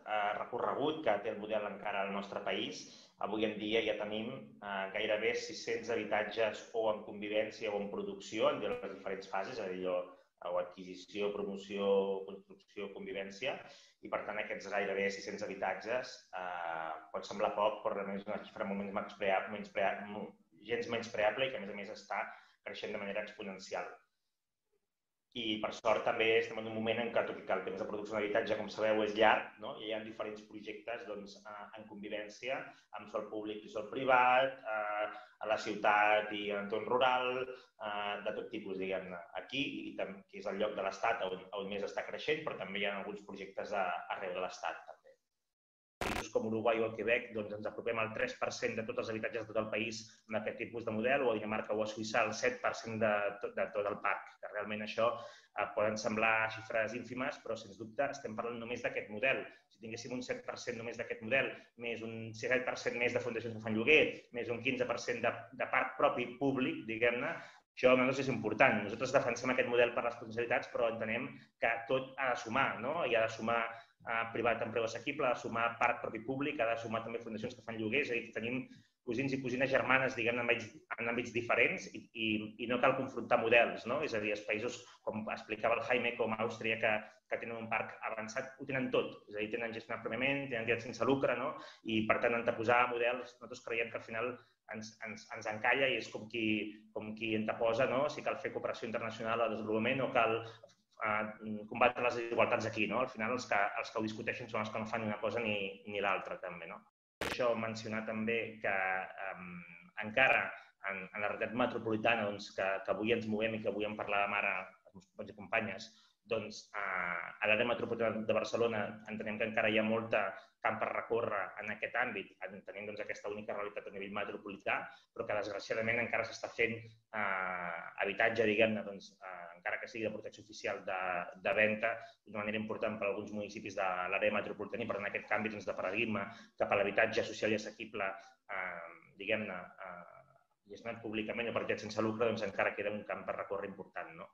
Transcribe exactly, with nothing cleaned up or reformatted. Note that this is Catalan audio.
eh, recorregut que té el model encara al nostre país. Avui en dia ja tenim eh, gairebé sis-cents habitatges o en convivència o en producció en les diferents fases, és a dir, o adquisició, promoció, construcció, convivència, i per tant aquests gairebé sis-cents habitatges eh, pot semblar poc, però realment és una xifra molt menyspreable, gens menyspreable i que a més a més està creixent de manera exponencial. I per sort també estem en un moment en què, tot i que el temps de producció d'habitatge, com sabeu, és llarg, no? Hi ha diferents projectes doncs, en convivència, amb sòl públic i sòl privat, eh, a la ciutat i en entorn rural, eh, de tot tipus, diguem-ne. Aquí, i que és el lloc de l'Estat on, on més està creixent, però també hi ha alguns projectes a, arreu de l'Estat. Com Uruguai o el Quebec, doncs ens apropem al tres per cent de tots els habitatges de tot el país amb aquest tipus de model, o a Dinamarca o a Suïssa el set per cent de tot, de tot el parc. Que realment això eh, poden semblar xifres ínfimes, però sens dubte estem parlant només d'aquest model. Si tinguéssim un set per cent només d'aquest model, més un set per cent més de fundacions que fan lloguer, més un quinze per cent de, de parc propi públic, diguem-ne, això a nosaltres és important. Nosaltres defensem aquest model per responsabilitats, però entenem que tot ha de sumar, no? I ha de sumar eh, privat amb preu assequible, ha de sumar parc propi públic, ha de sumar també fundacions que fan lloguers, és a dir, tenim cosins i cosines germanes, diguem, en àmbits diferents i, i, i no cal confrontar models, no? És a dir, els països, com explicava el Jaime, com Àustria, que, que tenen un parc avançat, ho tenen tot. És a dir, tenen gestionat pròpiament, tenen entitats sense lucre, no? I, per tant, anteposar models, nosaltres creiem que al final ens, ens, ens encalla i és com qui, com qui anteposa, no? Si cal fer cooperació internacional al desenvolupament o cal eh, combatre les desigualtats aquí, no? Al final, els que, els que ho discuteixen són els que no fan ni una cosa ni, ni l'altra, també, no? Això mencionar també que eh, encara en, en la realitat metropolitana doncs, que, que avui ens movem i que avui en parlàvem ara els meus companys i companyes, doncs eh, a l'àrea metropolitana de Barcelona entenem que encara hi ha molta camp per recórrer en aquest àmbit, entenem doncs, aquesta única realitat a nivell metropolità, però que desgraciadament encara s'està fent eh, habitatge, diguem-ne, doncs, eh, encara que sigui de protecció oficial de, de venda, d'una manera important per a alguns municipis de l'àrea metropolitana i per tant aquest canvi doncs, de paradigma cap a l'habitatge social i assequible, eh, diguem-ne, eh, gestionat públicament o per entitats sense lucre, doncs encara queda un camp per recórrer important, no?